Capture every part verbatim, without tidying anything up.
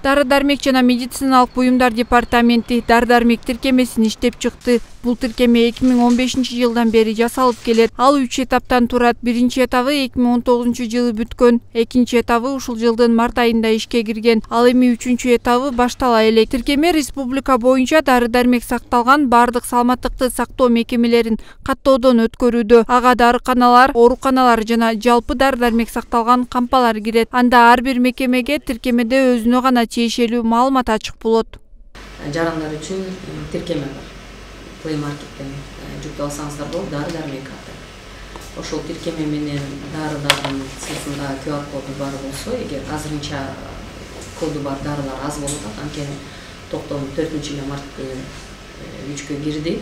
Дары-дармек жана медициналык буюмдар департаменти дары-дармек тиркемесин иштеп чыкты. Бул тиркеме эки миң он бешинчи жылдан бери жасалып келет. Ал үч этаптан турат. Биринчи этабы эки миң он тогузунчу жылы бүткөн. Экинчи этабы ушул жылдын март айында ишке кирген. Ал эми үчүнчү этабы баштала элек. Тиркеме республика боюнча дары-дармек сакталган бардык саламаттыкты сактоо мекемелерин каттоодон өткөрүүдө. Ага дарыканалар, ооруканалар жана жалпы дары-дармек сакталган кампалар кирет. Анда ар бир мекемеге тиркемеде өзүнө гана тиешелүү маалымат ачык болот. Жарандар үчүн тиркеме бар. Play Market'ten жүктөп алсаңыздар болот, дары-дармек аты. Ошол тиркеме менен дарылардын сыртында ку ар коду бар болсо, эгер азырынча коду бар дарылар аз болуп атат, анткени токтом төртүнчү март күнү күчкө кирди.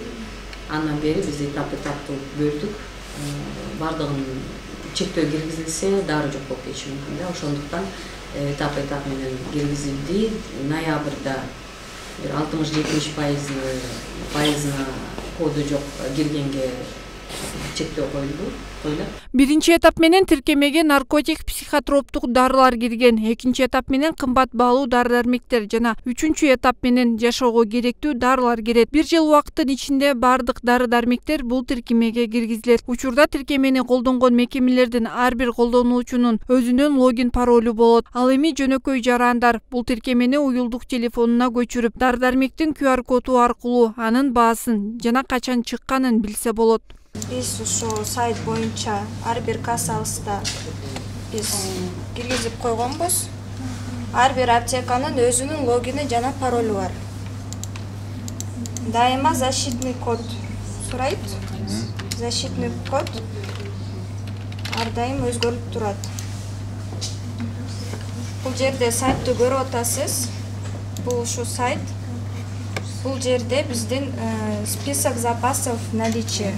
Андан бери биз этап-этаптуу бөлдүк. Бардыгын чектөө киргизилсе, дары жок болуп кетиши мүмкүн да. Ошондуктан этап-этап менен киргизилди. Ноябрда бир алтымыш жетимиш пайызына коду жок киргенге чектөө коюлду. Биринчи этап менен тиркемеге наркотик, психотроптук дарылар кирген. Экинчи этап менен кымбат баалуу дары-дармектер жана үчүнчү этап менен жашоого керектүү дарылар кирет. Бир жыл убакыттын ичинде бардык дары-дармектер бул тиркемеге киргизилет. Учурда тиркемени колдонгон мекемелердин ар бир колдонуучунун өзүнүн логин паролу болот. Ал эми жөнөкөй жарандар бул тиркемени уюлдук телефонуна көчүрүп, дары-дармектин ку ар коду аркылуу анын баасын жана качан чыкканын билсе болот. Биз ушул сайт боюнча ар бир кассабызда биз киргизип койгонбуз. Ар бир аптеканын өзүнүн логини жана паролу бар. Дайыма защитный код сурайт. Защитный код ар дайым өзгөрүп турат. Бул жерде сайтты көрүп атасыз. Бул ушу сайт. Бул жерде биздин список запасов наличия.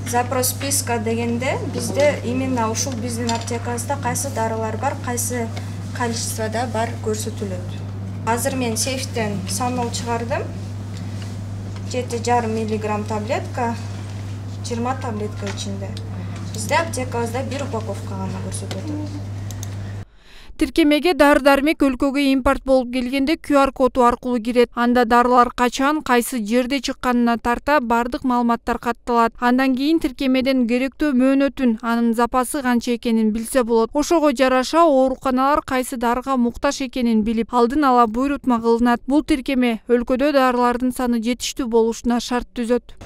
Запрос списка дегенде бизде именно ушул биздин аптекабызда кайсы дарылар бар, кайсы количествода бар көрсөтүлөт. Азыр мен сейфтен санол чыгардым. жети жарым миллиграмм таблетка, жыйырма таблетка ичинде. Бизде аптекабызда бир упаковка гана көрсөтөт. Тиркемеге дары-дармек өлкөгө импорт болуп келгенде ку ар коду аркылуу кирет. Анда дарылар качан, кайсы жерде чыкканына тарта бардык маалыматтар катталат. Андан кийин тиркемеден керектүү мөөнөтүн, анын запасы канча экенин билсе болот. Ошого жараша ооруканалар кайсы дарыга муктаж экенин билип, алдын ала буйрутма кылынат. Бул тиркеме өлкөдө дарылардын саны жетиштүү болушуна шарт түзөт.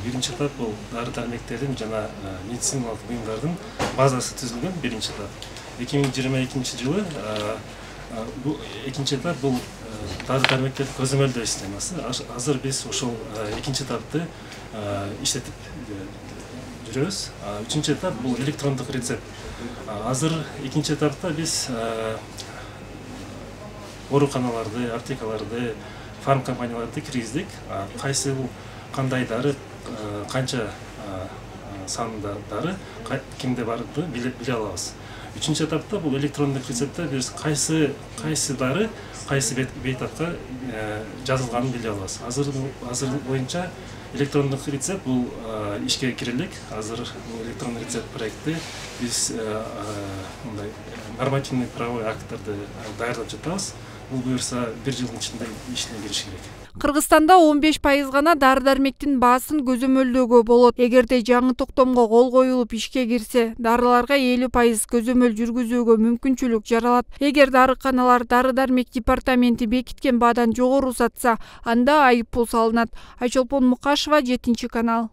Биринчи этап бул дары-дармектердин жана медициналык буюмдардын базасы түзүлгөн биринчи этап. эки миң жыйырма экинчи жылы бул экинчи этап бул дары-дармектерди көзөмөлдөө системасы. Азыр биз ошол экинчи этапты иштетип жүрөбүз. Үчүнчү этап бул электрондук рецепт. Азыр экинчи этапта биз ооруканаларды, аптекаларды, фарм компанияларды киргиздик. Кайсы кандай дары, канча санда дары, кимде барды биле алабыз. Үчүнчү этапта бул электрондук рецептте биз кайсы кайсы дары, кайсы бейтапка жазылганын биле алабыз. Азыр азыр боюнча электрондук рецепт бул ишке кирилик. Азыр электрондук рецепт проекти биз мындай нормативный правовой акттарды даярдап жатабыз. Бул буюрса бир жылдын ичинде ишине кириш керек. Кыргызстанда он беш пайыз гана дары-дармектин баасын көзөмөлдөөгө болот. Эгерде жаңы токтомго кол коюлуп ишке кирсе, дарыларга элүү пайыз көзөмөл жүргүзүүгө мүмкүнчүлүк жаралат. Эгер дарыканалар дары-дармек департаменти бекиткен баадан жогору сатса, анда айып пул салынат. Айчолпон Мукашева, жетинчи канал.